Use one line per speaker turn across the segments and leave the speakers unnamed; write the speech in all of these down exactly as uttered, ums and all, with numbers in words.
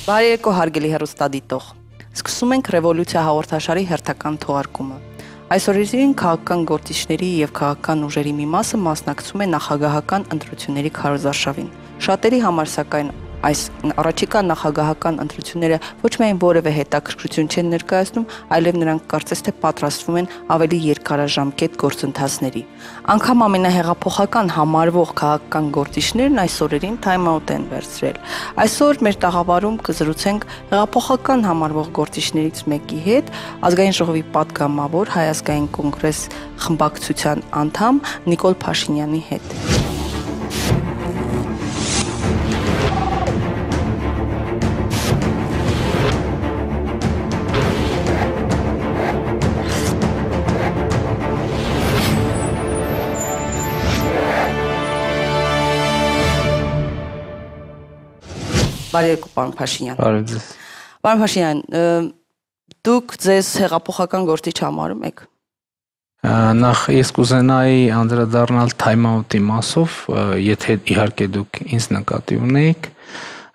Բարեկո հարգելի հեռուստադիտող, սկսում ենք Ռևոլյուցիա հաղորդաշարի հերթական թողարկումը։ Այսօրին քաղաքական գործիչների եւ քաղաքական ուժերի մի մասը մասնակցում է նախագահական ընտրությունների քարոզարշավին։ Շատերի համար սակայն այս առաջիկա նախագահական ընտրությունները ոչ միայն որևէ հետաքրքրություն չեն ներկայացնում, այլև նրանք կարծես թե պատրաստվում են ավելի երկարաժամկետ գործընթացների։ Անկամ ամենահեղափոխական համարվող քաղաքական գործիչներն այս օրերին time-out են վերցրել։ Այսօր մեր տաղավարում կզրուցենք հեղափոխական համարվող գործիչներից մեկի հետ, ազգային ժողովի պատգամավոր Հայ ազգային կոնգրես խմբակցության անդամ Նիկոլ Փաշինյանի հետ։ Բարեկո, պարոն Փաշինյան։
Բարև ձեզ։
Պարոն Փաշինյան, դուք ձեզ հեղափոխական գործիչ համարում եք։
Նախ ես կուզենայի անդրադառնալ time-out-ի մասով, եթե իհարկե դուք ինձ նկատի ունեիք,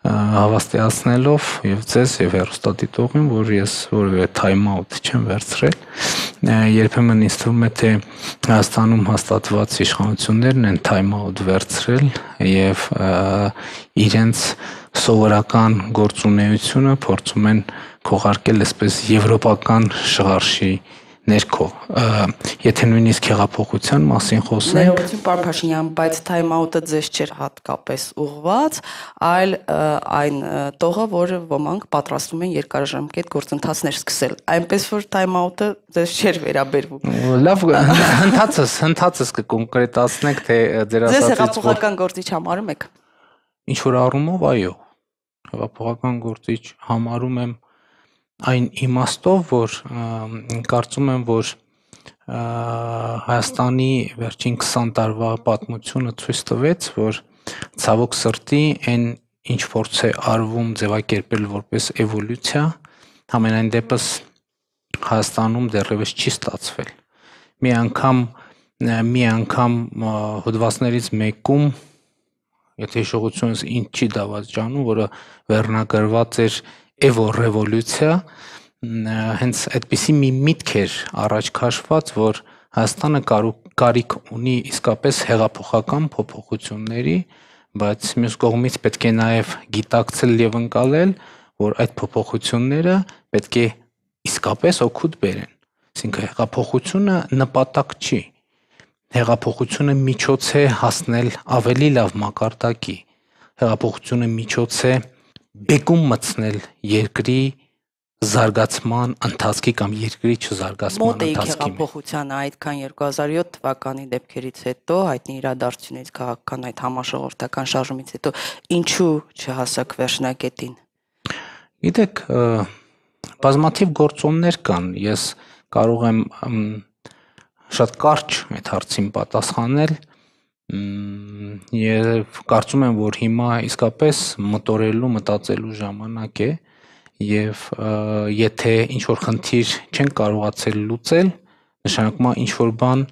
հավաստիացնելով եւ ձեզ եւ հեռուստադիտողին, որ ես որևէ time-out չեմ վերցրել։ Երբեմն ինձ թվում է, թե Հայաստանում հաստատված իշխանություններն են time-out վերցրել եւ իրենց սովորական գործունեությունը փորձում են քողարկել այսպես եվրոպական շղարշի ներքո, եթե նույնիսկ հեղափոխության մասին խոսենք։
Ներողություն, պարոն Փաշինյան, բայց time-out-ը ձեզ չէր հատկապես ուղղված, այլ այն տողը, որը ոմանք պատրաստվում են երկարաժամկետ գործընթացներ սկսել։ Այնպես որ time-out-ը ձեզ չէր վերաբերվում։
Լավ, հնդածս, հնդածս կկոնկրետացնենք, թե ձեր
ասածից ձեզ հեղափոխական գործիչ համարում եք։
Ինչ որ առումով, այո, հեղափոխական գործիչ համարում եմ այն իմաստով, որ կարծում եմ, որ Հայաստանի վերջին քսան տարվա պատմությունը ցույց տվեց, որ ցավոք սրտի այն ինչ փորձ է արվում ձևակերպել որպես էվոլյուցիա, համենայն դեպս Հայաստանում դեռևս չի ստացվել։ Մի անգամ մի անգամ հոդվածներից մեկում, եթե հիշողությունս ինձ չի դավաճանում, որը վերնագրված էր էվո-ռևոլյուցիա, հենց այդպիսի մի միտք էր առաջ քաշված, որ Հայաստանը կարիք ունի իսկապես հեղափոխական փոփոխությունների, բայց մյուս կողմից պետք է նաև գիտակցել եւ ընկալել, որ այդ փոփոխությունները պետք է իսկապես օգուտ բերեն։ Այսինքն հեղափոխությունը նպատակ չի։ Հեղափոխությունը միջոց է հասնել ավելի լավ մակարդակի։ Հեղափոխությունը միջոց է բեկում մտցնել երկրի զարգացման ընթացքի կամ երկրի չզարգացման ընթացքի։
Հեղափոխությանը այդքան երկու հազար յոթ թվականի դեպքերից հետո, հայտնի իրադարձությունից, քաղաքական այդ համաժողովրդական շարժումից հետո ինչու չհասակ վերջնակետին։
Գիտեք, բազմաթիվ գործոններ կան։ Ես կարող եմ շատ կարճ այդ հարցին պատասխանել եւ կարծում եմ, որ հիմա իսկապես մտորելու, մտածելու ժամանակ է եւ եթե ինչ որ խնդիր չեն կարողացել լուծել, նշանակում է ինչ որ բան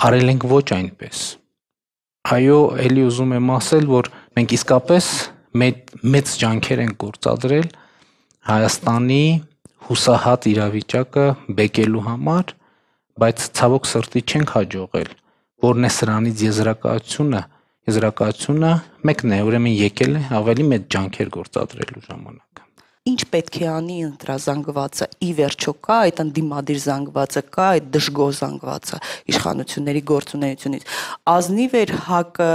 արել ենք ոչ այնպես։ Այո, ելի ուզում եմ ասել, որ մենք իսկապես մեծ ջանքեր ենք գործադրել Հայաստանի հուսահատ իրավիճակը բեկելու համար, բայց ցավոք սրտի չենք հաջողել։ Որն է սրանից եզրակացությունը, եզրակացությունը մեկն է, ուրեմն եկել է ավելի մեծ ջանքեր գործադրելու ժամանակը։
Ինչ պետք է անի ընտրազանգվածը, ի վերջո կա այդ ընդդիմադիր զանգվածը, կա այդ դժգոհ զանգվածը իշխանությունների գործունեությունից։ Ազնիվ էր ՀԱԿ-ը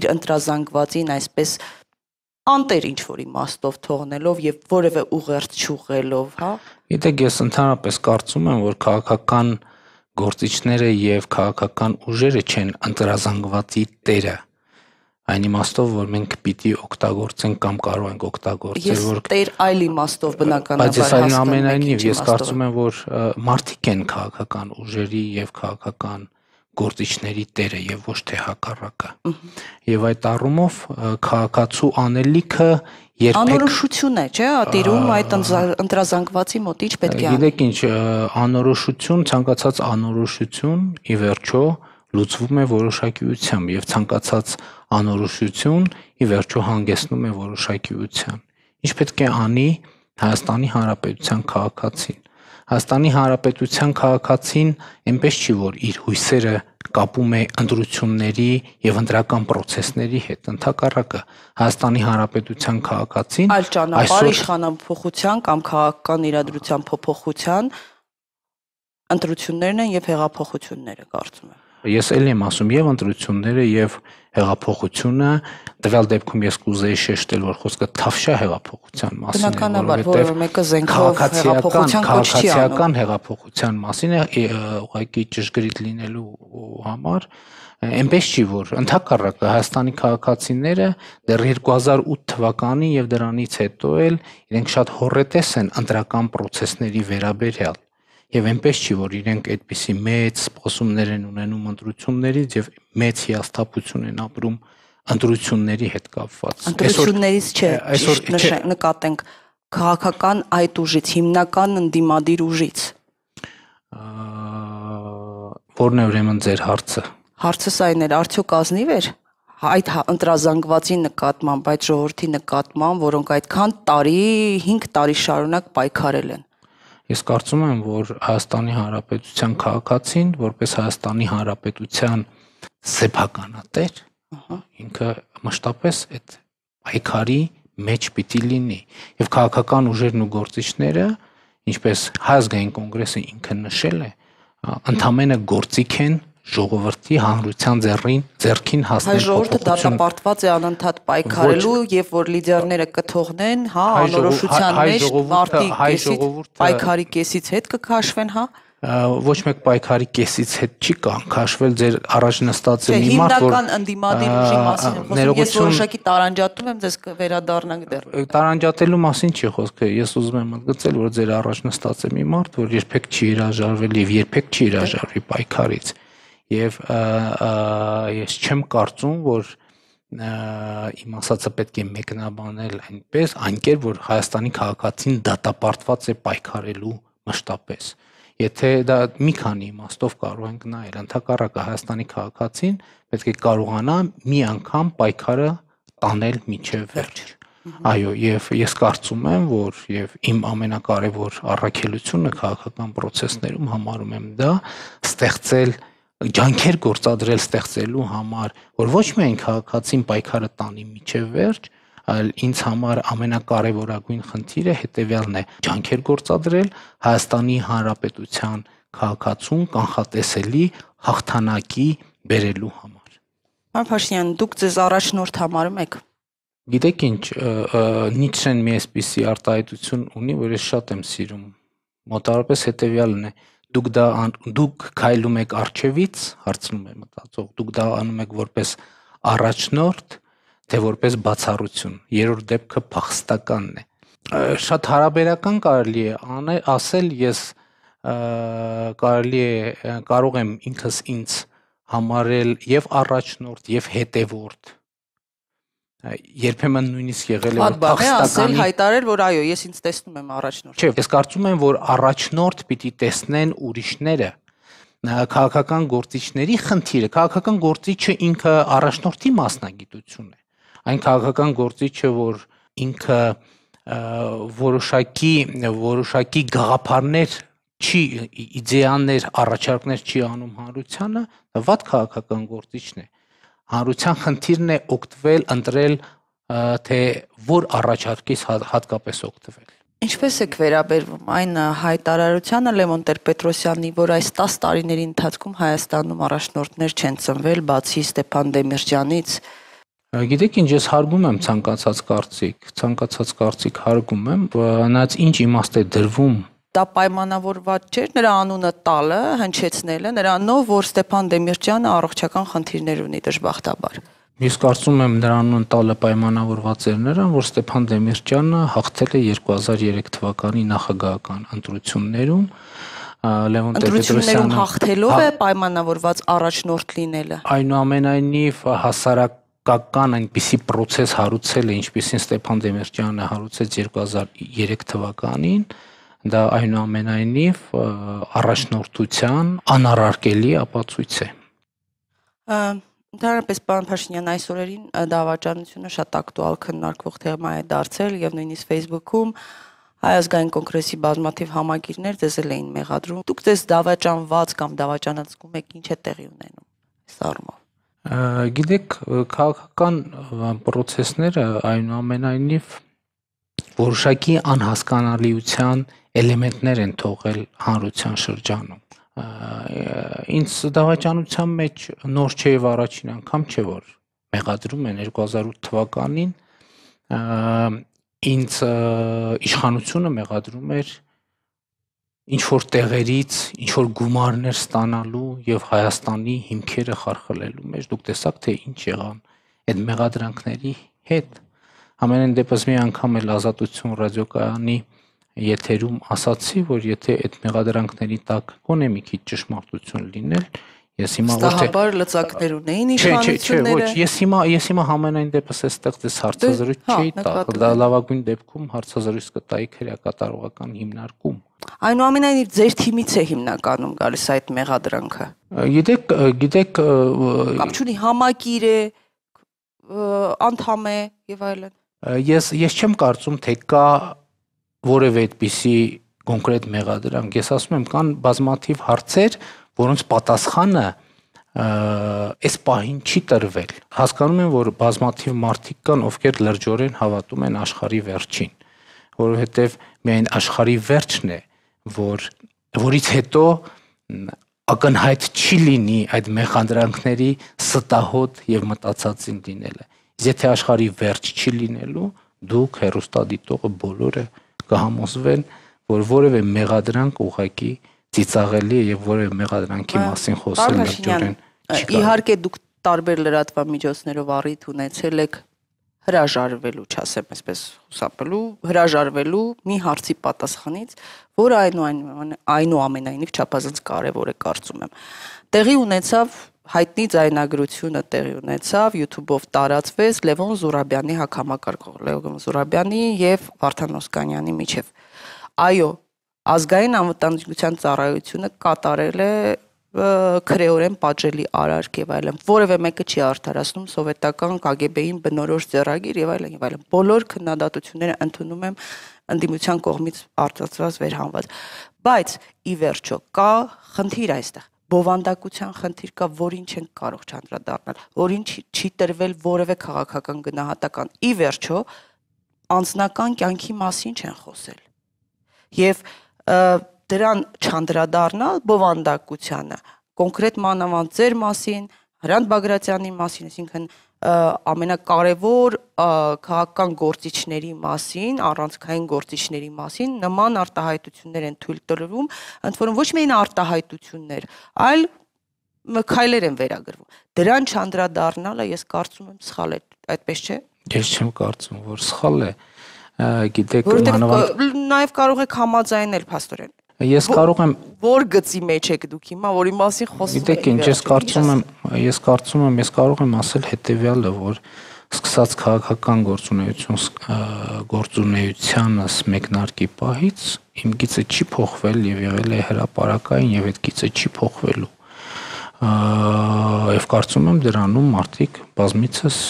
իր ընտրազանգվածին այսպես անտեր ինչ որ իմաստով թողնելով եւ որևէ ուղերձ չուղղելով, հա։
Գիտեք, ես ընդհանրապես կարծում եմ, որ քաղաքական գործիչները եւ քաղաքական ուժերը չեն ընտրազանգվածի տերը։ Այն իմաստով, որ մենք պիտի օգտագործենք կամ կարող ենք օգտագործել, որ
տեր այլ իմաստով բնականաբար
բայց այնուամենայնիվ ես կարծում եմ, որ մարդիկ են քաղաքական ուժերի եւ քաղաքական գործիչների տերը եւ ոչ թե հակառակը։ Եվ այդ առումով քաղաքացու անելիքը երբեք
անորոշություն է, չէ՞, ատիրում այդ ընտրազանգվածի մոտ ինչ պետք է անի։
Գիտեք ինչ, անորոշություն, ցանկացած անորոշություն ի վերջո լուծվում է որոշակիությամբ եւ ցանկացած անորոշություն ի վերջո հանգեցնում է որոշակիության։ ինչ պետք է անի Հայաստանի Հանրապետության քաղաքացին։ Հայաստանի Հանրապետության քաղաքացին այնպես չի, որ իր հույսերը կապում է ընտրությունների եւ ընտրական process-ների հետ, ընդհակառակը Հայաստանի Հանրապետության քաղաքացին
այլ ճանապարհ իշխանափոխության կամ քաղաքական իրադրության փոփոխության ընտրություններն են եւ հեղափոխությունները, կարծում եմ։
Ես էլ եմ ասում եւ ընտրությունները եւ հեղափոխությունը, տվյալ դեպքում ես կուզեի շեշտել, որ խոսքը թավշյա հեղափոխության մասին է,
բնականաբար, որը մեկը զենքով հեղափոխության կոչ չի անում։
Քաղաքացիական հեղափոխության մասին է, ուղղակի ճշգրիտ լինելու համար, այնպես չի, որ ընդհակառակը Հայաստանի քաղաքացիները դեռ երկու հազար ութ թվականին եւ դրանից հետո էլ իրենք շատ հոռետես են ընտրական process-ների վերաբերյալ։ Եվ այնպես չի, որ իրենք այդպիսի մեծ սպասումներ են ունենում ընտրություններից եւ մեծ հիասթափություն են ապրում ընտրությունների հետ կապված։
Ընտրություններից չէ, այսօր նկատենք քաղաքական այդ ուժից, հիմնական ընդդիմադիր ուժից։
Որն է ուրեմն ձեր հարցը։
Հարցս այն էր, արդյոք ազնիվ էր այդ ընտրազանգվածի նկատմամբ, այդ ժողովրդի նկատմամբ, որոնք այդքան տարի, հինգ տարի շարունակ պայքարել են։
Ես կարծում եմ, որ Հայաստանի Հանրապետության քաղաքացին, որպես Հայաստանի Հանրապետության սեփականատեր, ինքը մշտապես այդ պայքարի մեջ պիտի լինի եւ քաղաքական ուժերն ու գործիչները, ինչպես Հայ ազգային կոնգրեսը ինքը նշել է, ընդամենը գործիք են ժողովրդի հանրության ձեռին ձեռքին հասնել։
Հայ ժողովուրդը դատապարտված է անընդհատ պայքարելու եւ որ լիդերները կթողնեն, հա, անորոշության մեջ մարտի կեսից պայքարի կեսից հետ կքաշվեն, հա։
Ոչ մեկ պայքարի կեսից հետ չի կանքաշվել, ձեր առաջ նստած է մի մարդ, որ
հիմնական ընդդիմադիր ուժի մասին եմ խոսում, ես որոշակի տարանջատում եմ, ձեզ կվերադառնանք դեռ։
Տարանջատելու մասին չի խոսքը, ես ուզում եմ ընդգծել, որ ձեր առաջ նստած է մի մարդ, որ երբեք չի հրաժարվել եւ երբեք չի հրաժարվի պայքարից։ Եվ ես չեմ կարծում, որ իմ ասածը պետք է մեկնաբանել այնպես, այնքեր, որ Հայաստանի քաղաքացին դատապարտված է պայքարելու մշտապես։ Եթե դա մի քանի իմաստով կարող ենք նայել, ընդհակառակը Հայաստանի քաղաքացին պետք է կարողանա մի անգամ պայքարը տանել մինչև վերջ։ Այո, եւ ես կարծում եմ, որ եւ իմ ամենակարևոր առաքելությունը քաղաքական process-ներում համարում եմ դա ստեղծել ջանքեր գործադրել ստեղծելու համար, որ ոչ միայն քաղաքացին պայքարը տանի մինչև վերջ, այլ ինձ համար ամենակարևորագույն խնդիրը հետևյալն է՝ ջանքեր գործադրել Հայաստանի Հանրապետության քաղաքացուն կանխատեսելի հաղթանակի բերելու համար։
Պարոն Փաշինյան, դուք ձեզ առաջնորդ համարում եք։
Գիտեք ինչ, Նիցշեն մի այսպիսի արտահայտություն ունի, որ ես շատ եմ սիրում։ Մոտավորապես հետևյալն է. Դուք դա դուք քայլում եք արջևից, հարցնում է մտածող, դուք դա անում եք որպես առաջնորդ, թե որպես բացառություն։ Երրորդ դեպքը փախստականն է։ Շատ հարաբերական կարելի է անել, ասել ես կարելի է կարող եմ ինքս ինձ համարել եւ առաջնորդ եւ հետևորդ։ Երբեմն նույնիսկ եղել է
փախստականի հայտարել, որ այո, ես ինձ տեսնում եմ առաջնորդ։
Չէ, ես կարծում եմ, որ առաջնորդ պիտի տեսնեն ուրիշները։ Քաղաքական գործիչների խնդիրը, քաղաքական գործիչը ինքը առաջնորդի մասնագիտություն է։ Այն քաղաքական գործիչը, որ ինքը որոշակի որոշակի գաղափարներ չի, իդեաներ, առաջարկներ չի անում հանրությանը, դա վատ քաղաքական գործիչն է։ Հանրության խնդիրն է օգտվել, ընտրել, թե որ առաջարկից հատկապես օգտվել։
Ինչպես եք վերաբերվում այն հայտարարությանը Լևոն Տեր-Պետրոսյանի, որ այս տասը տարիների ընթացքում Հայաստանում առաջնորդներ չեն ծնվել, բացի Ստեփան Դեմիրճյանից։
Գիտեք ինչ, ես հարգում եմ ցանկացած կարծիք, ցանկացած կարծիք հարգում եմ, նայած ինչ իմաստ է դրվում։
Դա պայմանավորված չէր նրա անունը տալը, հնչեցնելը, նրանով, որ Ստեփան Դեմիրճյանը առողջական խնդիրներ ունի դժբախտաբար։
Ես կարծում եմ նրա անունը տալը պայմանավորված էր նրան, որ Ստեփան Դեմիրճյանը հաղթել է երկու հազար երեք թվականի նախագահական ընտրություններում, Լևոն Տեր-Պետրոսյանը
ընտրություններում հաղթելով է պայմանավորված առաջնորդ լինելը։
Այնուամենայնիվ հասարակական այնպիսի process հարուցել է, ինչպիսին Ստեփան Դեմիրճյանը հարուցեց երկու հազար երեք թվականին, դա այնուամենայնիվ առաջնորդության անառարկելի ապացույց է։
Ընդհանրապես պարոն Փաշինյան, այս օրերին դավաճանությունը շատ ակտուալ քննարկվող թեմա է դարձել եւ նույնիսկ Facebook-ում Հայ ազգային կոնգրեսի բազմաթիվ համագիրներ ձեզ էին մեղադրում։ Դուք ձեզ դավաճանված կամ դավաճանացնում եք, ինչ է տեղի ունենում այս առումով։
Գիտեք, քաղաքական process-ները այնուամենայնիվ որոշակի անհասկանալիության էլեմենտներ են թողել հանրության շրջանում։ Ինձ դավաճանության մեջ նոր չէ եւ առաջին անգամ չէ որ մեղադրում են երկու հազար ութ թվականին ինձ իշխանությունը մեղադրում էր ինչ որ տեղերից ինչ որ գումարներ ստանալու եւ Հայաստանի հիմքերը խարխլելու մեջ դուք տեսաք թե ինչ եղան այդ մեղադրանքների հետ ամենայն դեպս մի անգամ էլ Ազատություն ռադիոկայանի եթերում ասացի որ եթե այդ մեղադրանքների տակ կոնե մի քիչ ճշմարտություն լինել ես հիմա ոչ թե
Ստահաբար լծակներ ունեին իշխանությունները
ոչ ես հիմա ես հիմա համենայն դեպս այստեղ դες հարցազրույց չի տա դա լավագույն դեպքում հարցազրույց կտայի քրեակատարողական հիմնարկում
Այնուամենայնիվ ձեր թիմից է հիմնականում գալիս այդ մեղադրանքը
Գիտեք գիտեք
Կամ չունի համակիր է անդամ է եւ այլն
Ես ես չեմ կարծում թե կա որևէ այդպիսի կոնկրետ մեղադրանք ես ասում եմ կան բազմաթիվ հարցեր որոնց պատասխանը այս պահին չի տրվել հասկանում եմ որ բազմաթիվ մարդիկ կան ովքեր լրջորեն հավատում են աշխարհի վերջին որովհետև միայն աշխարհի վերջն է որ որից հետո ակնհայտ չի լինի այդ մեղադրանքների ստահոդ եւ մտածածին լինելը եթե աշխարհի վերջ չի լինելու դուք հերոստադիտողը բոլորը կհամոզվեն որ որևէ մեղադրանք ուղղակի ծիծաղելի է եւ որևէ մեղադրանքի մասին խոսել լրջորեն
Իհարկե դուք տարբեր լրատվամիջոցներով առիթ ունեցել եք հրաժարվելու, չասեմ այսպես խուսափելու, հրաժարվելու մի հարցի պատասխանից, որը այնուամենայնիվ չափազանց կարևոր է կարծում եմ։ Տեղի ունեցավ հայտնի ձայնագրությունը տեղի ունեցավ YouTube-ով տարածվեց Լևոն Զուրաբյանի հակամակարգող Լևոն Զուրաբյանի եւ Վարդան Օսկանյանի միջև։ Այո, ազգային անվտանգության ծառայությունը կատարել է քրեորեն պատժելի արարք եւ այլն որևէ մեկը չի արդարացնում սովետական Կ Գ B-ին բնորոշ ձեռագիր եւ այլն եւ այլն բոլոր քննադատությունները ընդունում եմ ընդդիմության կողմից արտացված վերհանված բայց ի վերջո կա խնդիր այստեղ բովանդակության խնդիր կա որին չեն կարող չանդրադառնալ որին չի տրվել որևէ քաղաքական գնահատական ի վերջո անձնական կյանքի մասին չեն խոսել եւ դրան չանդրադառնալ բովանդակությանը կոնկրետ մանավանդ ձեր մասին Հրանտ Բագրատյանի մասին այսինքն ամենակարևոր քաղաքական գործիչների մասին առանցքային գործիչների մասին նման արտահայտություններ են թույլ տրվում ընդ որում ոչ միայն արտահայտություններ այլ քայլեր են վերագրվում դրան չանդրադառնալը ես կարծում եմ սխալ է այդպես չէ
Ես չեմ կարծում որ սխալ է գիտեք
մանավանդ նաև կարող եք համաձայնել փաստորեն
Ես կարող եմ
որ գծի մեջ եք դուք հիմա որի մասին խոսում
եք Գիտեք ինչ ես կարծում եմ ես կարծում եմ ես կարող եմ ասել հետեւյալը որ սկսած քաղաքական գործունեություն գործունեությանս մեկնարկի պահից իմ գիծը չի փոխվել եւ եղել է հրապարակային եւ այդ գիծը չի փոխվելու եւ կարծում եմ դրանում մարդիկ բազմիցս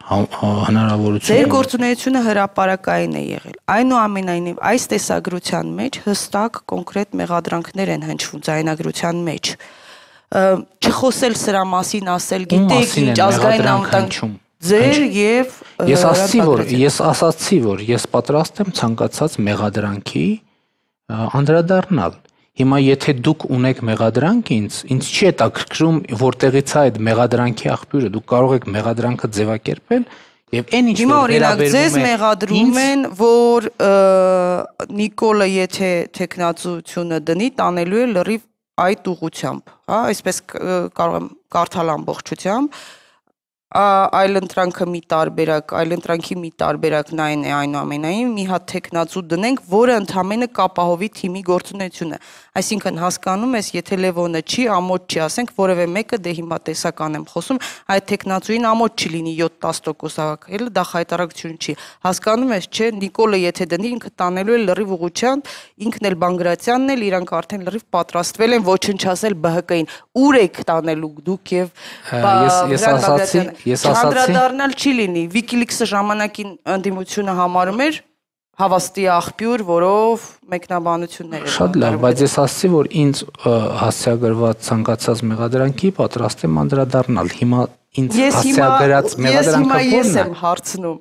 հնարավորություն
Ձեր գործունեությունը հրապարակային է եղել այնուամենայնիվ այս տեսագրության մեջ հստակ կոնկրետ մեղադրանքներ են հնչվում ձայնագրության մեջ չխոսել սրա մասին ասել գիտեք ինչ ազգային անվտանգություն ձեր եւ
Ես ասացի որ ես ասացի որ ես պատրաստ եմ ցանկացած մեղադրանքի անդրադառնալ Հիմա եթե դուք ունեք մեղադրանք ինձ, ինձ չի հետաքրքրում որտեղից է այդ մեղադրանքի աղբյուրը, դուք կարող եք մեղադրանքը ձևակերպել եւ այն ինչ որ
վերաբերում է ձեզ մեղադրում են, որ Նիկոլը եթե տեխնացությունը դնի, տանելու է լրիվ այդ ուղությամբ, հա, այսպես կարող եմ կարդալ ամբողջությամբ այլընտրանքը մի տարբերակ, այլընտրանքի մի տարբերակն այն է այնուամենայնիվ մի հատ տեխնացու դնենք, որը ընդամենը կապահովի թիմի գործունեությունը։ Այսինքն հասկանում ես, եթե Լևոնը չի, ամոթ չի, ասենք որևէ մեկը դե հիմա տեսական եմ խոսում, այդ տեխնացուին ամոթ չի լինի յոթ-տասը տոկոս հավաքել, դա խայտարակություն չի։ Հասկանում ես, չէ, Նիկոլը եթե դնի, ինքը տանելու է լրիվ ուղղությամբ, ինքն էլ Բանգրատյանն էլ իրանք արդեն լրիվ պատրաստվել են ոչնչացնել B H K-ին։ Ուր եք տանելու դուք եւ
ես ասացի, ես ասացի
անդրադառնալ չի լինի։ WikiLeaks-ը ժամանակին ընդդիմությունը համարում էր հավաստի աղբյուր, որով մեկնաբանություններ էր։
Շատ լավ, բայց ես ասացի, որ ինձ հասցեագրված ցանկացած մեղադրանքի պատրաստ եմ անդրադառնալ։ Հիմա ինձ հասցեագրած մեղադրանքը
ո՞րն է։ Ես եմ հարցնում,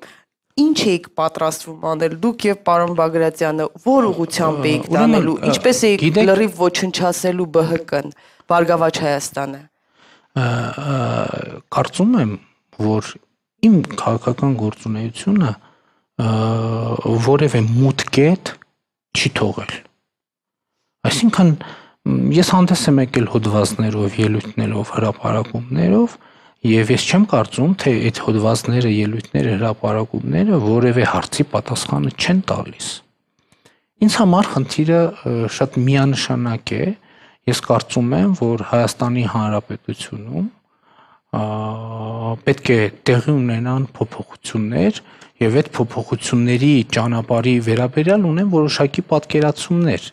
ինչ եք պատրաստվում անել դուք եւ պարոն Բագրատյանը, որ ուղղությամբ եք տանելու, ինչպես եք լրիվ ոչնչացնելու B H K-ն, Բարգավաճ Հայաստանը։
Կարծում եմ, որ իմ քաղաքական գործունեությունը որևէ մութ կետ չի թողել։ Այսինքն ես հանդես եմ եկել հոդվածներով, ելույթներով, հրապարակումներով եւ ես չեմ կարծում, թե այդ հոդվածները, ելույթները, հրապարակումները որևէ հարցի պատասխանը չեն տալիս։ Ինձ համար խնդիրը շատ միանշանակ է։ Ես կարծում եմ, որ Հայաստանի Հանրապետությունում պետք է տեղի ունենան փոփոխություններ եւ այդ փոփոխությունների ճանապարհի վերաբերյալ ունեն որոշակի պատկերացումներ։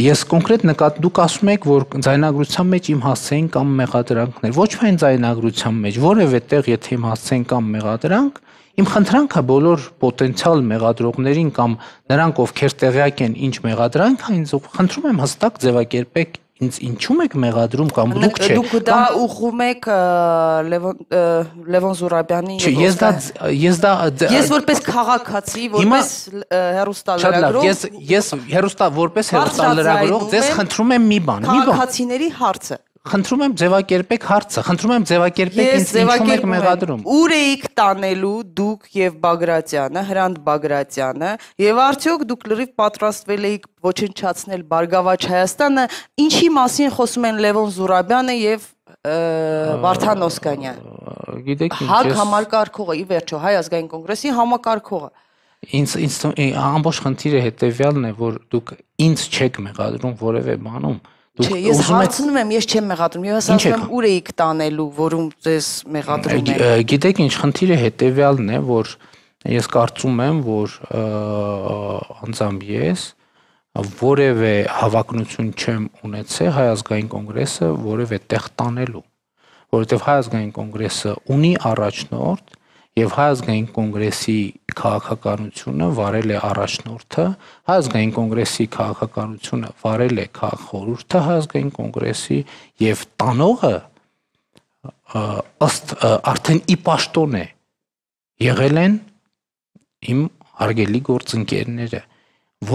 Ես կոնկրետ նկատ դուք ասում եք, որ ձայնագրության մեջ իմ հասցեին կամ մեղադրանքներ, ոչ միայն ձայնագրության մեջ, որևէ տեղ եթե իմ հասցեին կամ մեղադրանք, իմ խնդրանքը բոլոր պոտենցիալ մեղադրողներին կամ նրանք, ովքեր տեղյակ են ինչ մեղադրանք է, ինձ խնդրում եմ հստակ ձևակերպեք ինձ ինչու եք մեղադրում կամ դուք չէ։
Դուք դա ուղղում եք Լևոն Զուրաբյանի։
Չէ, ես դա ես դա
Ես որպես քաղաքացի, որպես հեռուստալրագրող,
ես ես հեռուստա որպես հեռուստալրագրող ձեզ խնդրում եմ մի բան, մի բան։
Քաղաքացիների հարցը։
Խնդրում եմ ձևակերպեք հարցը, խնդրում եմ ձևակերպեք ինձ ինչու եք մեղադրում։
Ուր էիք տանելու դուք եւ Բագրատյանը, Հրանտ Բագրատյանը, եւ արդյոք դուք լրիվ պատրաստվել էիք ոչնչացնել Բարգավաճ Հայաստանը, ինչի մասին խոսում են Լևոն Զուրաբյանը եւ Վարդան Օսկանյանը։
Գիտեք ինչ,
ՀԱԿ համակարգողը, ի վերջո Հայ ազգային կոնգրեսի համակարգողը։
Ինձ ինձ ամբողջ խնդիրը հետեւյալն է, որ դուք ինձ չեք մեղադրում որևէ բանում։
Չէ, ես հարցնում եմ, ես չեմ մեղադրում, ես ասում եմ ուր էիք տանելու, որում ձեզ մեղադրում են։
Գիտեք ինչ, խնդիրը հետեւյալն է, որ ես կարծում եմ, որ անձամբ ես որևէ հավակնություն չեմ ունեցել Հայ ազգային կոնգրեսը որևէ տեղ տանելու, որովհետև Հայ ազգային կոնգրեսը ունի առաջնորդ եւ Հայ ազգային կոնգրեսի քաղաքականությունը վարել է առաջնորդը, Հայ ազգային կոնգրեսի քաղաքականությունը վարել է քաղաքխորհուրդը Հայ ազգային կոնգրեսի եւ տանողը ըստ արդեն ի պաշտոն է եղել են իմ հարգելի գործընկերները,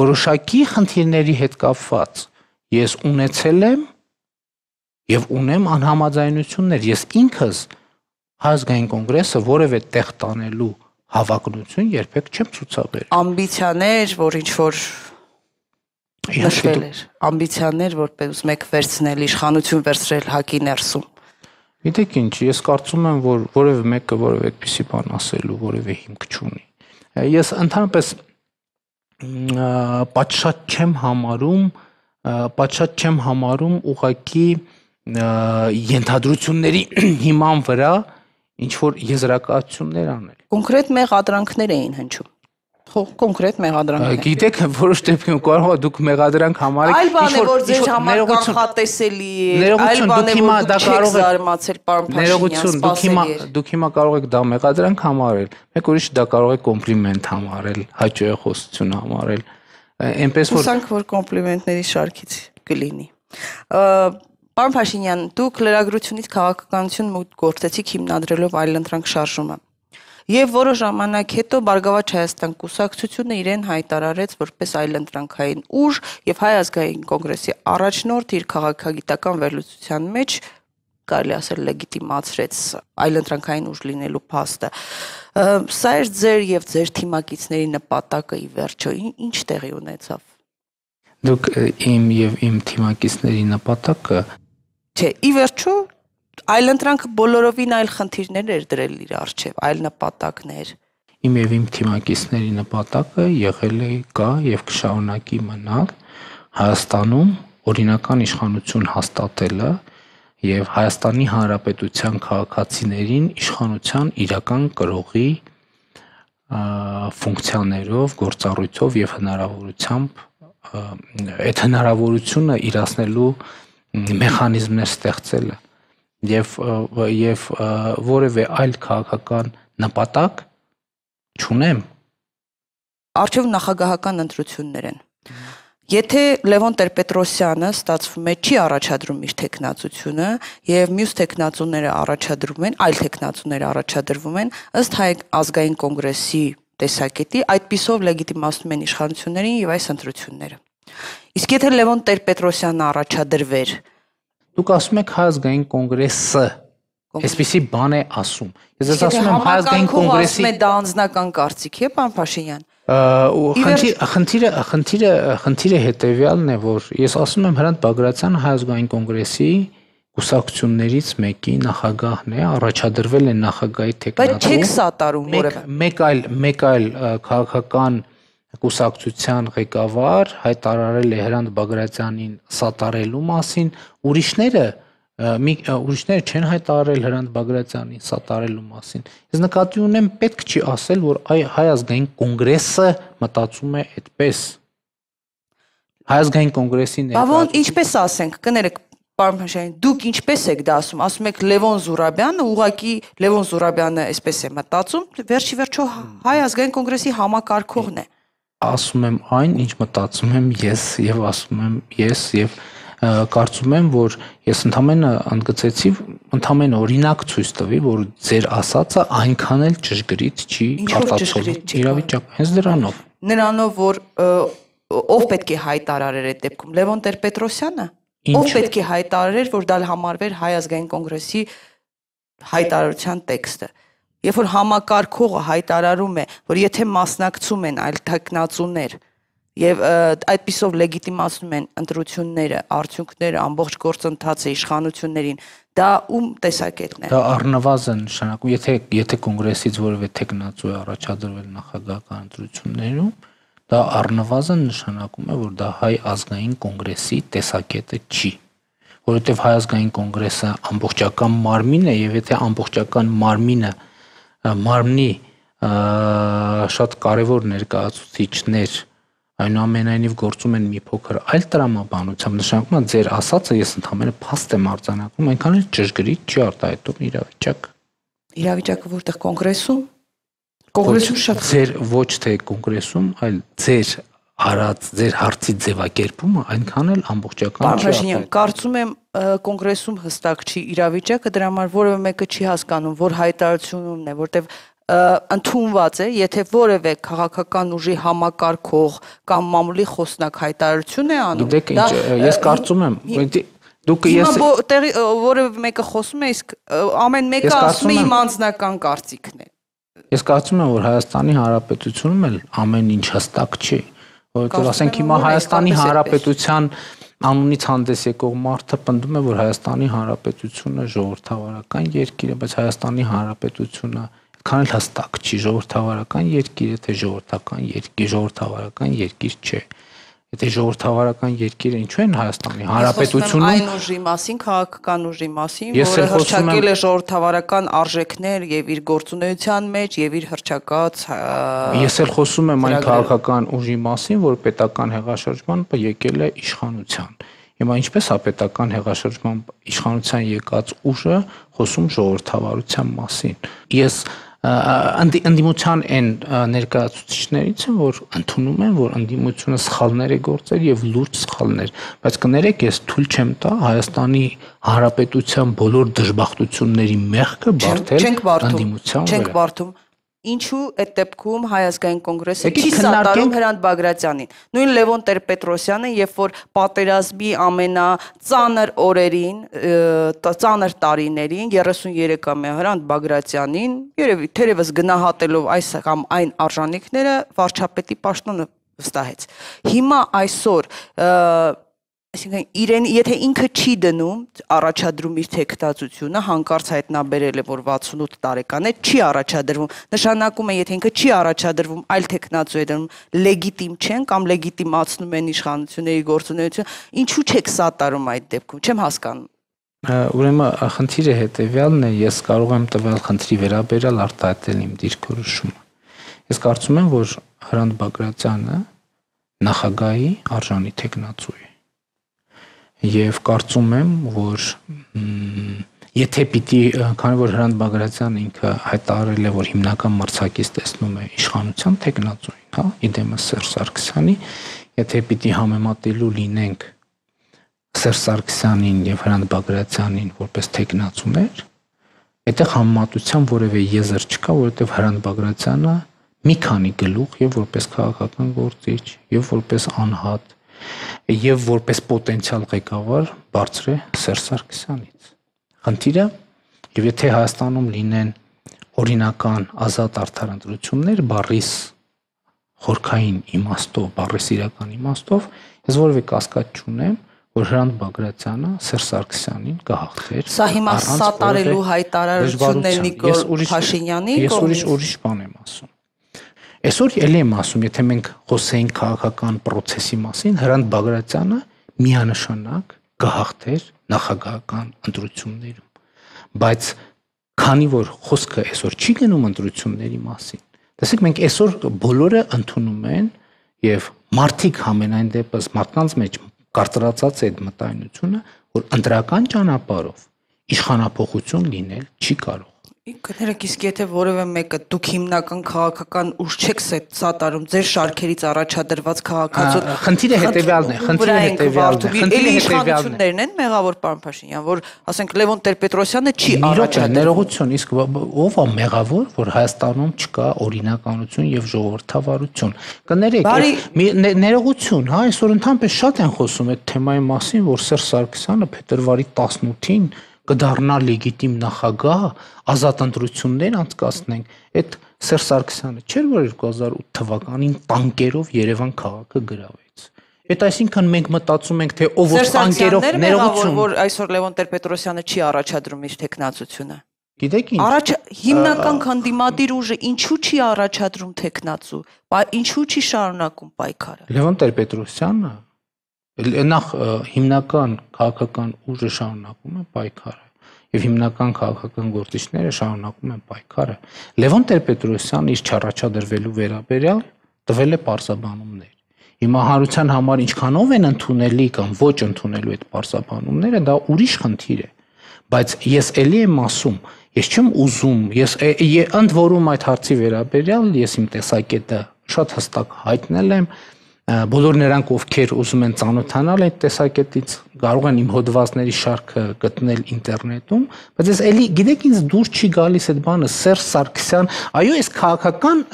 որոշակի խնդիրների հետ կապված ես ունեցել եմ եւ ունեմ անհամաձայնություններ, ես ինքս Հայ ազգային կոնգրեսը որևէ տեղ տանելու հավակնություն երբեք չեմ ցուցաբերել։
Ամբիցիաներ, որ ինչ որ նշվել էր, ամբիցիաներ, որպես մեկ վերցնել, իշխանություն վերցրել ՀԱԿ-ի ներսում։
Գիտեք ինչ, ես կարծում եմ, որ որևէ մեկը որևէ այդպիսի բան ասելու որևէ հիմք չունի։ Ես ընդհանրապես պատշաճ չեմ համարում, պատշաճ չեմ համարում ուղղակի ենթադրությունների հիման վրա ինչ որ եզրակացություններ անել։
Կոնկրետ մեղադրանքներ էին հնչում։ Ხო, կոնկրետ մեղադրանքներ։
Գիտեք, որոշ դեպքում կարող է դուք մեղադրանք համարեք,
այլ բան է, որ ձեր համար կանխատեսելի է, այլ բան է, որ դուք չեք զարմացել, պարոն Փաշինյան,
դուք հիմա դուք հիմա կարող եք դա մեղադրանք համարել, մեկ ուրիշ դա կարող է կոմպլիմենտ համարել, հաճոյախոսություն համարել։ Այնպես որ
հուսանք, որ կոմպլիմենտների շարքից կլինի։ Պարոն Փաշինյան, դուք լրագրությունից քաղաքականություն մուտք գործեցիք հիմնադրելով այլընտրանք շարժումը։ Եվ որոշ ժամանակ հետո Բարգավաճ Հայաստան կուսակցությունը իրեն հայտարարեց որպես այլընտրանքային ուժ եւ Հայ ազգային կոնգրեսի առաջնորդ իր քաղաքագիտական վերլուծության մեջ կարելի ասել լեգիտիմացրեց այլընտրանքային ուժ լինելու փաստը։ Սա էր ձեր եւ ձեր թիմակիցների նպատակը ի վերջո, ինչ տեղի ունեցավ։
Դուք իմ եւ իմ թիմակիցների նպատակը
Չէ, ի վերջո այլընտրանքը բոլորովին այլ խնդիրներ էր դրել իր առջև, այլ նպատակներ։
Իմ եւ իմ թիմակիցների նպատակը եղել է կա եւ կշարունակի մնալ Հայաստանում օրինական իշխանություն հաստատելը եւ Հայաստանի Հանրապետության քաղաքացիներին իշխանության իրական կրողի ֆունկցիաներով, գործառույթով եւ հնարավորությամբ այդ հնարավորությունը իրացնելու մեխանիզմներ ստեղծելը եւ եւ որևէ այլ քաղաքական նպատակ չունեմ։
Արժեվ նախագահական ընտրություններ են։ Եթե Լևոն Տեր-Պետրոսյանը ստացվում է չի առաջադրում իր տեխնացությունը եւ մյուս տեխնացուները առաջադրում են, այլ տեխնացուները առաջադրվում են ըստ Հայ ազգային կոնգրեսի տեսակետի, այդպիսով լեգիտիմացնում են իշխանություններին եւ այս ընտրությունները։ Իսկ եթե Լևոն Տեր-Պետրոսյանը առաջադրվեր,
դուք ասում եք Հայ ազգային կոնգրեսը, այսպիսի բան է ասում։ Ես ես ասում եմ Հայ ազգային կոնգրեսի
դա անձնական կարծիք է, պարոն Փաշինյան։
Խնդիրը խնդիրը խնդիրը հետեւյալն է, որ ես ասում եմ Հրանտ Բագրատյանը Հայ ազգային կոնգրեսի կուսակցություններից մեկի նախագահն է, առաջադրվել է նախագահի տեխնատում։
Բայց չեք սատարում որևէ։
Մեկ այլ մեկ այլ քաղաքական կուսակցության ղեկավար հայտարարել է Հրանտ Բագրատյանին սատարելու մասին, ուրիշները մի ուրիշները չեն հայտարարել Հրանտ Բագրատյանին սատարելու մասին։ Ես նկատի ունեմ պետք չի ասել, որ Հայ ազգային կոնգրեսը մտածում է այդպես։ Հայ ազգային կոնգրեսի
ներկայացուցիչ։ Բավոն ինչպես ասենք, կներեք, պարոն Փաշինյան, դուք ինչպես եք դա ասում, ասում եք Լևոն Զուրաբյանը, ուղղակի Լևոն Զուրաբյանը այսպես է մտածում, վերջի վերջո Հայ ազգային կոնգրեսի համակարգողն է։
Ասում եմ այն, ինչ մտածում եմ ես եւ ասում եմ ես եւ կարծում եմ, որ ես ընդամենը ընդգծեցի, ընդամենը օրինակ ցույց տվի, որ ձեր ասածը այնքան էլ ճշգրիտ չի կարտացոլի իրավիճակը, հենց դրանով։
Նրանով, որ ով պետք է հայտարարեր այդ դեպքում, Լևոն Տեր-Պետրոսյանը, ով պետք է հայտարարեր, որ դա համարվեր Հայ ազգային կոնգրեսի հայտարարության տեքստը։ Երբ որ համակարգողը հայտարարում է, որ եթե մասնակցում են այլ տեխնացուներ եւ այդպիսով լեգիտիմացնում են ընտրությունները, արդյունքները, ամբողջ գործընթացը իշխանություններին, դա ում տեսակետն է։
Դա առնվազն նշանակում, եթե եթե կոնգրեսից որևէ տեխնացու է առաջադրվել նախագահական ընտրություններում, դա առնվազն նշանակում է, որ դա Հայ ազգային կոնգրեսի տեսակետը չի, որովհետեւ Հայ ազգային կոնգրեսը ամբողջական մարմին է եւ եթե ամբողջական մարմինը մարմնի շատ կարևոր ներկայացուցիչներ այնուամենայնիվ գործում են մի փոքր այլ տրամաբանությամբ, նշանակում է ձեր ասածը ես ընդհանրապես փաստ եմ արձանագրում, այնքան էլ ճշգրիտ չի արտահայտում իրավիճակը։
Իրավիճակը որտեղ կոնգրեսում։ Կոնգրեսում շատ
ձեր ոչ թե կոնգրեսում, այլ ձեր արած ձեր հարցի ձևակերպումը այնքան էլ ամբողջական չի
արտահայտում։ Կարծում եմ կոնգրեսում հստակ չի իրավիճակը, դրա համար որևէ մեկը չի հասկանում, որ հայտարարությունն է, որտեվ ընդունված է, եթե որևէ քաղաքական ուժի համակարգող կամ մամուլի խոսնակ հայտարարություն է անում։
Գիտեք ինչ, ես կարծում եմ, դուք ես
որևէ մեկը խոսում է, իսկ ամեն մեկը ասում է իմ անձնական կարծիքն է։
Ես կարծում եմ, որ Հայաստանի Հանրապետությունում էլ ամեն ինչ հստակ չի, որովհետև ասենք հիմա Հայաստանի Հանրապետության անունից հանդես եկող մարդը պնդում է, որ Հայաստանի Հանրապետությունը ժողովրդավարական երկիր է, բայց Հայաստանի Հանրապետությունը քան էլ հստակ չի, ժողովրդավարական երկիր է, թե ժողովրդական երկիր, ժողովրդավարական երկիր չէ։ Եթե ժողովրդավարական երկիրը ինչու են Հայաստանի Հանրապետությունում
այն ուժի մասին, քաղաքական ուժի մասին, որը հռչակել է ժողովրդավարական արժեքներ եւ իր գործունեության մեջ եւ իր հռչակած
Ես էլ խոսում եմ այն քաղաքական ուժի մասին, որ պետական հեղաշրջմամբ եկել է իշխանության։ Հիմա ինչպես է պետական հեղաշրջմամբ իշխանության եկած ուժը խոսում ժողովրդավարության մասին։ Ես ընդդիմության այն ներկայացուցիչներից են, որ ընդունում են, որ ընդդիմությունը սխալներ է գործել եւ լուրջ սխալներ, բայց կներեք, ես թույլ չեմ տա Հայաստանի Հանրապետության բոլոր դժբախտությունների մեղքը բարթել ընդդիմության վրա։
Չենք բարթում։ Ինչու այդ դեպքում Հայ ազգային կոնգրեսը չի սատարում Հրանտ Բագրատյանին։ Նույն Լևոն Տեր-Պետրոսյանը, երբ որ պատերազմի ամենածանր օրերին, ծանր տարիներին երեսուններեքամյա Հրանտ Բագրատյանին, երևի թերևս գնահատելով այս կամ այն արժանինքները վարչապետի պաշտոնը վստահեց։ Հիմա այսօր Այսինքն իրեն եթե ինքը չի դնում առաջադրում իր թեկնածությունը, հանկարծ հայտնաբերել է, որ վաթսունութ տարեկան է, չի առաջադրվում։ Նշանակում է, եթե ինքը չի առաջադրվում, այլ թեկնածու է դնում, լեգիտիմ չեն կամ լեգիտիմացնում են իշխանությունների գործունեությունը, ինչու չեք սատարում այդ դեպքում, չեմ հասկանում։
Ուրեմն խնդիրը հետևյալն է, ես կարող եմ տվյալ խնդրի վերաբերյալ արտահայտել իմ դիրքորոշումը։ Ես կարծում եմ, որ Հրանտ Բագրատյանը նախագահի արժանի թեկնածու է։ Եվ կարծում եմ, որ եթե պիտի, քանի որ Հրանտ Բագրատյանը ինքը հայտարարել է, որ հիմնական մրցակից տեսնում է իշխանության թեկնածուին, հա, իդեմս Սերժ Սարգսյանի, եթե պիտի համեմատելու լինենք Սերժ Սարգսյանին եւ Հրանտ Բագրատյանին որպես թեկնածուներ, այդտեղ համեմատության որևէ եզր չկա, որովհետեւ Հրանտ Բագրատյանը մի քանի գլուխ եւ որպես քաղաքական գործիչ եւ որպես անհատ եւ որպես պոտենցիալ ղեկավար բարձր է Սերժ Սարգսյանից։ Խնդիրը, եւ եթե Հայաստանում լինեն օրինական ազատ արդար ընտրություններ, բառիս խորքային իմաստով, բառիս իրական իմաստով, ես որևէ կասկած չունեմ, որ Հրանտ Բագրատյանը Սերժ Սարգսյանին կհաղթեր։
Սա հիմա սատարելու հայտարարությունն է Նիկոլ Փաշինյանի կողմից։ Ես ուրիշ ուրիշ բան եմ ասում։ Այսօր ելի եմ ասում, եթե մենք խոսեինք քաղաքական process-ի մասին, Հրանտ Բագրատյանը միանշանակ կհաղթեր նախագահական ընտրություններում։ Բայց քանի որ խոսքը այսօր չի գնում ընտրությունների մասին, տեսեք մենք այսօր բոլորը ընդունում են եւ մարդիկ համենայն դեպս մարդկանց մեջ կարծրացած է այդ մտայնությունը, որ ընտրական ճանապարհով իշխանափոխություն լինել չի կարող։ Կներեք, իսկ եթե որևէ մեկը դուք հիմնական քաղաքական ուժ չեք սատարում ձեր շարքերից առաջադրված քաղաքացու
խնդիրը հետևյալն է, խնդիրը հետևյալն է, խնդիրը
իշխանություններն են մեղավոր պարոն Փաշինյան, որ ասենք Լևոն Տեր-Պետրոսյանը չի առաջադրվում։
Ներողություն, իսկ ով է մեղավոր, որ Հայաստանում չկա օրինականություն եւ ժողովրդավարություն։ Կներեք, ներողություն, հա, այսօր ընդհանրապես շատ են խոսում այդ թեմայի մասին, որ Սերժ Սարգսյանը փետրվարի տասնութին կդառնա լեգիտիմ նախագահ, ազատ ընտրություններ անցկացնենք, այդ Սերժ Սարգսյանը չէր, որ երկու հազար ութ թվականին տանկերով Երևան քաղաքը գրավեց։ Այդ այսինքն մենք մտածում ենք, թե ով որ տանկերով ներողություն,
որ այսօր Լևոն Տեր-Պետրոսյանը չի առաջադրում իր թեկնածությունը։
Գիտեք ինչ։
Առաջ հիմնական քանդիմադիր ուժը ինչու չի առաջադրում թեկնածու, ինչու չի շարունակում պայքարը։
Լևոն Տեր-Պետրոսյանը նախ հիմնական քաղաքական ուժը շարունակում է պայքարը եւ հիմնական քաղաքական գործիչները շարունակում են պայքարը։ Լևոն Տեր-Պետրոսյանը իր չառաջադրվելու վերաբերյալ տվել է պարզաբանումներ։ Հիմա հանրության համար ինչքանով են ընդունելի կամ ոչ ընդունելու այդ պարզաբանումները, դա ուրիշ խնդիր է։ Բայց ես էլի եմ ասում, ես չեմ ուզում, ես ընդ որում այդ հարցի վերաբերյալ ես իմ տեսակետը շատ հստակ հայտնել եմ։ Բոլոր նրանք, ովքեր ուզում են ծանոթանալ այդ տեսակետից, կարող են իմ հոդվածների շարքը գտնել ինտերնետում, բայց ես էլի գիտեք ինձ դուր չի գալիս այդ բանը Սերժ Սարգսյան, այո, այս քաղաքական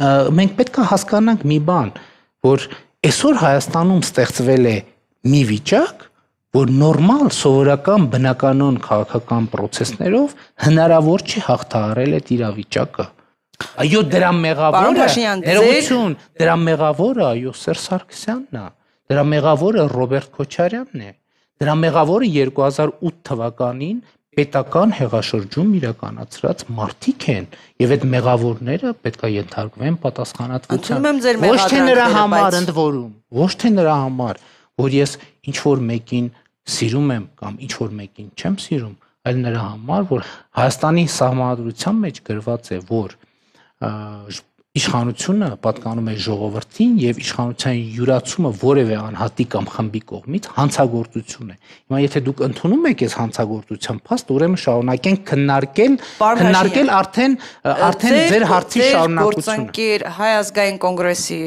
մենք պետք է հասկանանք մի բան, որ այսօր Հայաստանում ստեղծվել է մի վիճակ, որ նորմալ, սովորական, բնականon քաղաքական process-ներով հնարավոր չի հաղթահարել այդ իրավիճակը։ Այո, դրա մեղավորը, ներողություն, դրա մեղավորը այո Սերժ Սարգսյանն է, դրա մեղավորը Ռոբերտ Քոչարյանն է, դրա մեղավորը երկու հազար ութ թվականին պետական հեղաշրջում իրականացրած մարդիկ են եւ այդ մեղավորները պետք է ենթարկվեն պատասխանատվության։ Ոչ թե նրա համար ընդ որում, ոչ թե նրա համար, որ ես ինչ որ մեկին սիրում եմ կամ ինչ որ մեկին չեմ սիրում, այլ նրա համար, որ Հայաստանի սահմանադրության մեջ գրված է, որ իշխանությունը պատկանում է ժողովրդին եւ իշխանության յուրացումը որևէ անհատի կամ խմբի կողմից հանցագործություն է։ Հիմա եթե դուք ընդունում եք այս հանցագործության փաստ, ուրեմն շարունակենք քննարկել, քննարկել արդեն արդեն ձեր հարցի շարունակությունը։
Գործընկեր Հայ ազգային կոնգրեսի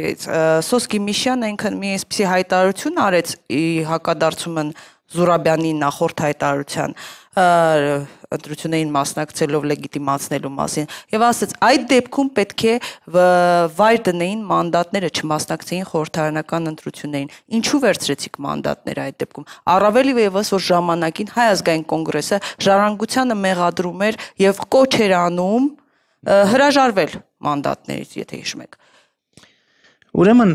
Սոսկի Միշյանը ինքն մի այսպիսի հայտարարություն արեց հակադարձումն Զուրաբյանի նախորդ հայտարարության ընտրություններին մասնակցելով լեգիտիմացնելու մասին եւ ասաց այդ դեպքում պետք է վայր դնեին մանդատները չմասնակցեին խորհրդարանական ընտրություններին ինչու վերցրեցիք մանդատները այդ դեպքում առավել եւս որ ժամանակին Հայ ազգային կոնգրեսը ժառանգությանը մեղադրում էր եւ կոչ էր անում հրաժարվել մանդատներից եթե հիշում եք
Ուրեմն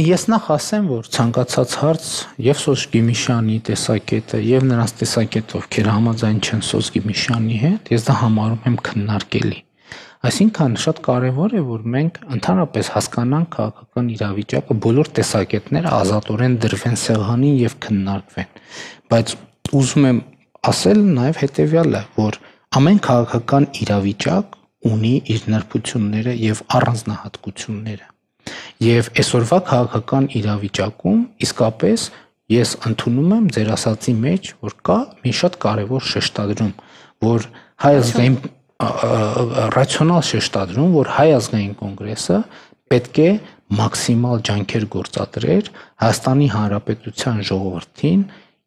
ես նախ ասեմ, որ ցանկացած հարց եւ Սոս Գիմիշյանի տեսակետը եւ նրանց տեսակետը, ովքեր համաձայն չեն Սոս Գիմիշյանի հետ, ես դա համարում եմ քննարկելի։ Այսինքն շատ կարեւոր է, որ մենք ընդհանրապես հասկանանք քաղաքական իրավիճակը, բոլոր տեսակետները ազատորեն դրվեն սեղանին եւ քննարկվեն։ Բայց ուզում եմ ասել նաեւ հետեւյալը, որ ամեն քաղաքական իրավիճակ ունի իր նրբությունները եւ առանձնահատկությունները։ Եվ այսօրվա քաղաքական իրավիճակում իսկապես ես ընդունում եմ ձեր ասածի մեջ, որ կա մի շատ կարևոր շեշտադրում, որ հայ ազգային ռացիոնալ շեշտադրում, որ հայ ազգային կոնգրեսը պետք է մաքսիմալ ջանքեր գործադրեր Հայաստանի Հանրապետության ժողովրդին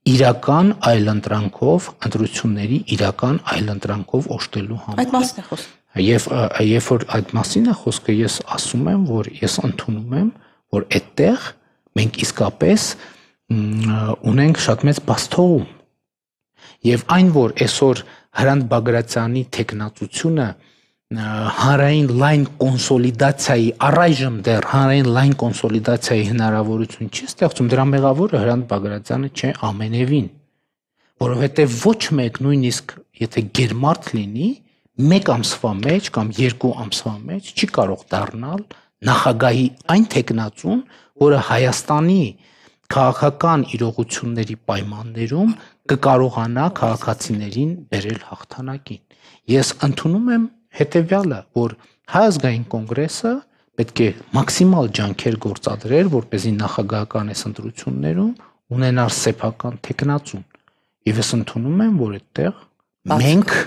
իրական այլընտրանքով, ընտրությունների իրական այլընտրանքով օժտելու համար։
Այդ մասն է խոսքը։
Եվ երբ որ այդ մասին է խոսքը, ես ասում եմ, որ ես ընդունում եմ, որ այդտեղ մենք իսկապես ունենք շատ մեծ բացթողում։ Եվ այն, որ այսօր Հրանտ Բագրատյանի տեխնացությունը հանրային լայն կոնսոլիդացիայի, առայժմ դեռ հանրային լայն կոնսոլիդացիայի հնարավորություն չի ստեղծում, դրա մեղավորը Հրանտ Բագրատյանը չէ ամենևին, որովհետև ոչ մեկ նույնիսկ եթե գերմարդ լինի, մեկ ամսվա մեջ կամ երկու ամսվա մեջ չի կարող դառնալ նախագահի այն տեխնացուն, որը Հայաստանի քաղաքական իրողությունների պայմաններում կկարողանա քաղաքացիներին բերել հաղթանակին։ Ես ընդունում եմ հետևյալը, որ Հայ ազգային կոնգրեսը պետք է մաքսիմալ ջանքեր գործադրեր, որպեսզի նախագահական այս ընտրություններում ունենար սեփական տեխնացուն։ Եվ ես ընդունում եմ, որ այդտեղ մենք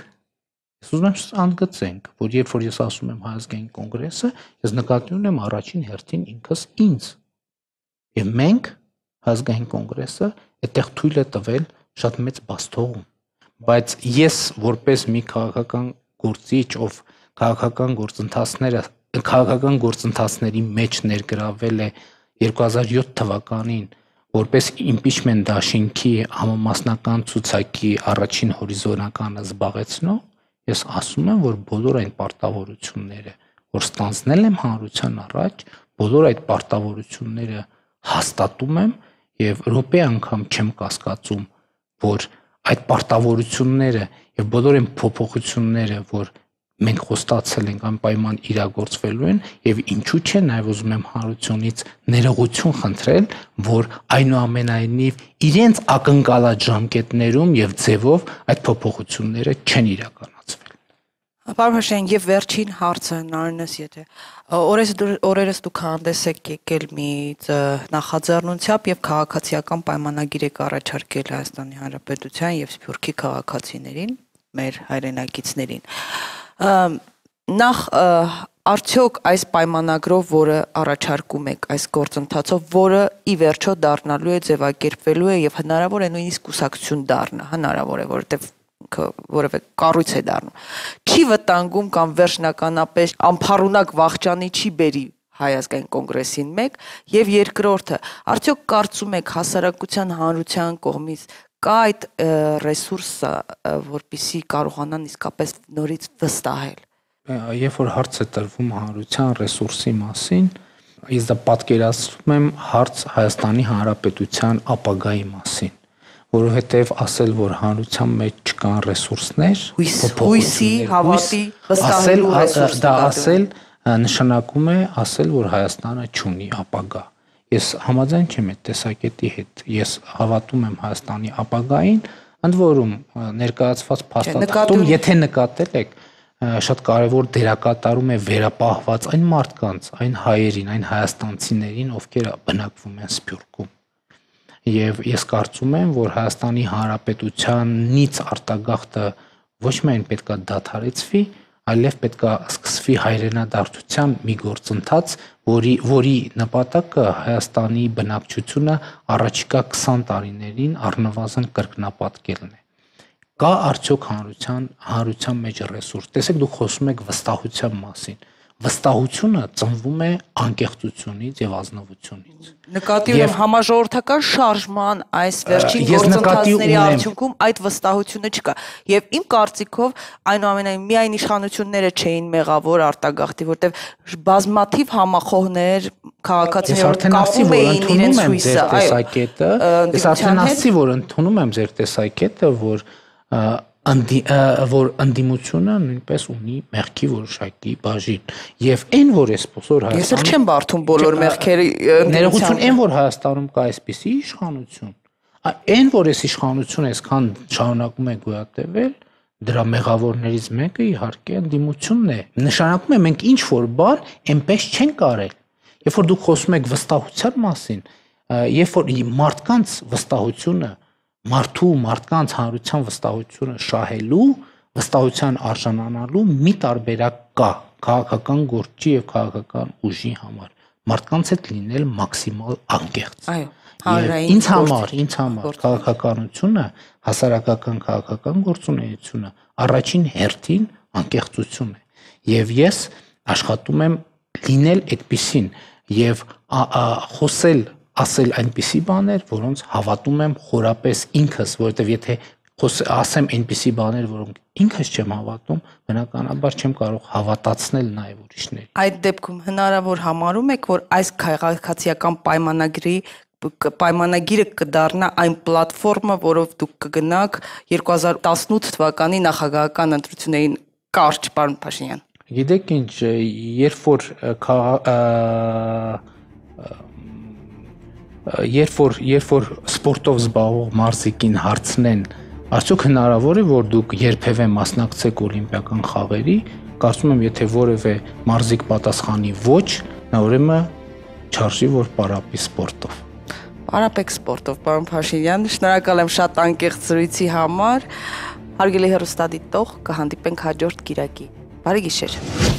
Ես ուզում եմ անգծենք, որ երբ որ ես ասում եմ Հայ ազգային կոնգրեսը, ես նկատի ունեմ առաջին հերթին ինքս ինձ։ Եվ մենք Հայ ազգային կոնգրեսը այդտեղ թույլ է տվել շատ մեծ բացթողում։ Բայց ես որպես մի քաղաքական գործիչ, ով քաղաքական գործընթացները, քաղաքական գործընթացների մեջ ներգրավել է երկու հազար յոթ թվականին, որպես impeachment դաշինքի համամասնական ցուցակի առաջին հորիզոնականը զբաղեցնող, ես ասում եմ, որ բոլոր այն պարտավորությունները, որ ստանձնել եմ հանրության առաջ, բոլոր այդ պարտավորությունները հաստատում եմ եւ րոպե անգամ չեմ կասկածում, որ այդ պարտավորությունները եւ բոլոր այն փոփոխությունները, որ մենք խոստացել ենք անպայման իրագործվելու են եւ ինչու՞ չէ նաեւ ուզում եմ հանրությունից ներողություն խնդրել, որ այնուամենայնիվ իրենց ակնկալած ժամկետներում եւ ձևով այդ փոփոխությունները չեն իրականացվել։
Պարոն Փաշինյան, եւ վերջին հարցը Նարինես, եթե օրերս օրերս դուք հանդես եք եկել մի նախաձեռնությամբ եւ քաղաքացիական պայմանագիր եք առաջարկել Հայաստանի Հանրապետության եւ Սփյուռքի քաղաքացիներին, մեր հայրենակիցներին։ Նախ արդյոք այս պայմանագրով, որը առաջարկում եք այս գործընթացով, որը ի վերջո դառնալու է, ձևակերպվելու է եւ հնարավոր է նույնիսկ կուսակցություն դառնա, հնարավոր է, որովհետեւ որևէ կառույց է դառնում, չի վտանգում կամ վերջնականապես անփառունակ վախճանի չի բերի Հայ ազգային կոնգրեսին մեկ, եւ երկրորդը, արդյոք կարծում եք հասարակության հանրության կողմից կա այդ ռեսուրսը, որպեսզի կարողանան իսկապես նորից վստահել։
Երբ որ հարց է տրվում հանրության ռեսուրսի մասին, ես դա պատկերացնում եմ հարց Հայաստանի Հանրապետության ապագայի մասին, որովհետև ասել, որ հանրության մեջ չկան ռեսուրսներ,
հույսի, հավատի, վստահելու ռեսուրս,
դա ասել նշանակում է ասել, որ Հայաստանը չունի ապագա։ Ես համաձայն չեմ այդ տեսակետի հետ։ Ես հավատում եմ Հայաստանի ապագային, ընդ որում ներկայացված փաստաթղթում, եթե նկատել եք, շատ կարևոր դերակատարում է վերապահված այն մարդկանց, այն հայերին, այն հայաստանցիներին, ովքեր բնակվում են Սփյուռքում։ Եվ ես կարծում եմ, որ Հայաստանի Հանրապետությանից արտագաղթը ոչ միայն պետք է դադարեցվի, այլև պետք է սկսվի հայրենադարձության մի գործընթաց, որի որի նպատակը Հայաստանի բնակչությունը առաջիկա քսան տարիներին առնվազն կրկնապատկելն է։ Կա արդյոք հանրության հանրության մեջ ռեսուրս։ Տեսեք, դուք խոսում եք վստահության մասին, վստահությունը ծնվում է անկեղծությունից եւ ազնվությունից։
Նկատի ունեմ համաժողովրդական շարժման այս վերջին
Ես նկատի
գործընթացների
ունեմ-
արդյունքում այդ վստահությունը չկա։ Եվ իմ կարծիքով այնուամենայնիվ միայն իշխանությունները չէին մեղավոր արտագաղթի, որտեղ բազմաթիվ համախոհներ
Ես
քաղաքացիներ
արդեն ասի,
կապում
որ
էին
ընդունում
իրենց
եմ
հույսը,
ձեր
այո,
տեսակետը, ես
ընդդիմության
արդեն
հետ։
ասի, որ ընդունում եմ ձեր տեսակետը, որ ա, անդի, ա, որ ընդդիմությունը նույնպես ունի մեղքի որոշակի բաժին։ Եվ այն, որ այս բոլոր
Ես էլ
Հայաստանում
չեմ բարթում բոլոր մեղքերի
ներողություն այն, որ Հայաստանում կա այսպիսի իշխանություն, ա, այն, որ այս իշխանությունը այսքան շարունակում է գոյատևել, դրա մեղավորներից մեկը իհարկե ընդդիմությունն է։ Նշանակում է մենք ինչ որ բան այնպես չենք արել։ Երբ որ դուք խոսում եք վստահության մասին, ա, երբ որ մարդկանց վստահությունը, մարդու մարդկանց հանրության վստահությունը շահելու, վստահության արժանանալու մի տարբերակ կա քաղաքական գործի եւ քաղաքական ուժի համար։ Մարդկանց հետ լինել մաքսիմալ անկեղծ։
Այո,
Եվ
հանրային
ինձ
գործ-
համար, ինձ համար քաղաքականությունը, հասարակական քաղաքական գործունեությունը առաջին հերթին անկեղծություն է։ Եվ ես աշխատում եմ լինել այդպիսին եւ ա- ա- խոսել, ասել այնպիսի բաներ, որոնց հավատում եմ խորապես ինքս, որովհետեւ եթե խոս- ասեմ այնպիսի բաներ, որոնք ինքս չեմ հավատում, բնականաբար չեմ կարող հավատացնել նաեւ ուրիշներին։
Այդ դեպքում հնարավոր համարում եք, որ այս քաղաքացիական պայմանագրի կ- պայմանագիրը կդառնա այն պլատֆորմը, որով դուք կգնաք երկու հազար տասնութ թվականի նախագահական ընտրություններին կարճ, պարոն Փաշինյան։
Գիտեք ինչ, երբ որ քաղա- ա, ա, երբ որ երբ որ սպորտով զբաղվող մարզիկին հարցնեն, արդյոք հնարավոր է որ դուք երբևէ մասնակցեք օլիմպիական խաղերի, կարծում եմ եթե որևէ մարզիկ պատասխանի ոչ, նա ուրեմն չարժի որ պարապի սպորտով։
Պարապեք սպորտով, պարոն Փաշինյան, շնորհակալ եմ շատ անկեղծ զրույցի համար։ Հարգելի հեռուստադիտող, կհանդիպենք հաջորդ կիրակի։ Բարի գիշեր։